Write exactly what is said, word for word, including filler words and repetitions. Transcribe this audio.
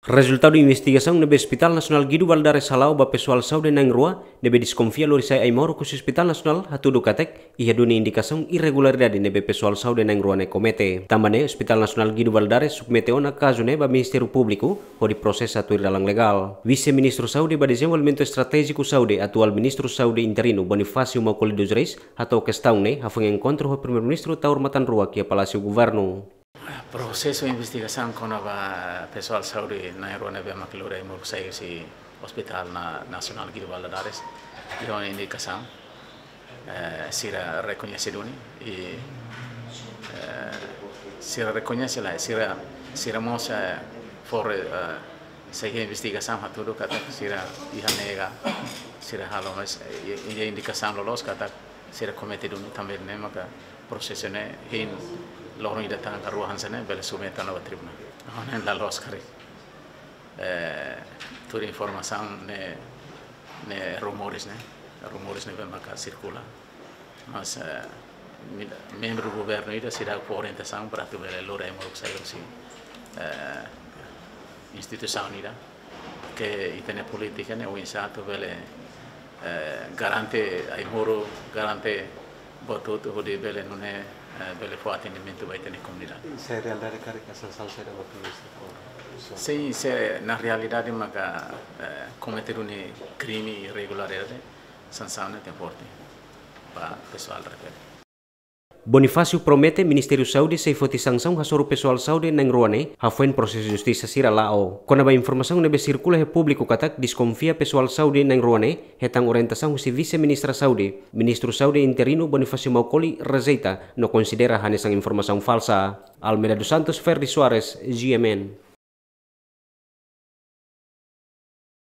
Rezultadu investigasaun ne'ebé Hospital Nasionál Guido Valadares hala'o ba pesoál saúde na'in-rua ne'ebé deskonfia lori sai ai-moruk husi Hospital Nasionál hatudu katak iha duni indikasaun irregularidade ne'ebé pesoál saúde na'in-rua ne'e komete. Tanba ne'e, Hospital Nasionál Guido Valadares submete ona kazu ne'e ba Ministériu Públiku hodi prosesa tuir dalan legál. Vise-Ministru Saúde ba Dezenvolvimentu Estratéjiku Saúde, atuál Ministru Saúde interinu Bonifácio Maukoli dos Reis, hato'o kestaun ne'e hafoin enkontru ho Primeiru-Ministru Taur Matan Ruak iha Palásiu Governu. Prosesu investigasaun kona-ba pesoál saúde na'in-rua ne'ebé mak lori ai-moruk sai husi Hospital na-, Nasionál Guido Valadares, iha ona indikasaun, eh, sira rekoñese duni, i, eh, sira rekoñese lae, sira, sira mós, eh, fó, eh, sei investigasaun hatudu katak sira iha nega, sira halo mais, eh, i, i indikasaun loloos katak sira komete duni, tanba ne'e maka prosesu ne'e hein loron ida tan ka rua hanesan ne'e bele submete ona ba tribunál. Ha'u hanoin la loos karik. Eh, tuir informasaun ne'e, ne'e rumores ne'e, rumores ne'ebé maka sirkula. Mas, eh, mi-, membru governu ida seidauk fó orientasaun para atu bele lori ai-moruk sai husi, eh, instituisaun ida. Ke ita-nia polítika ne'e oinsá atu bele, eh, garante ai-moruk, garante buat hotu hodi bele nune'e, eh, bele fó atendimentu ba ita-nia komunidade. Se realidade karik sansaun sira ba polísia fó? Sin, se na realidade maka, eh, komete duni krime irregularidade, sansaun ne'e tenke forte ba pesoál refere. Bonifácio promete Ministériu Saúde sei foti sansaun hasoru pesoál saúde na'in-rua ne'e hafoin prosesu justisa sira la'o. Kona-ba informasaun ne'ebé sirkula iha públiku katak deskonfia pesoál saúde na'in-rua ne'e hetan orientasaun husi Vise-Ministra Saúde, Ministru Saúde interinu Bonifácio Maukoli rejeita no konsidera hanesan informasaun falsa. Almeida dos Santos, Ferdi Soares, G M N.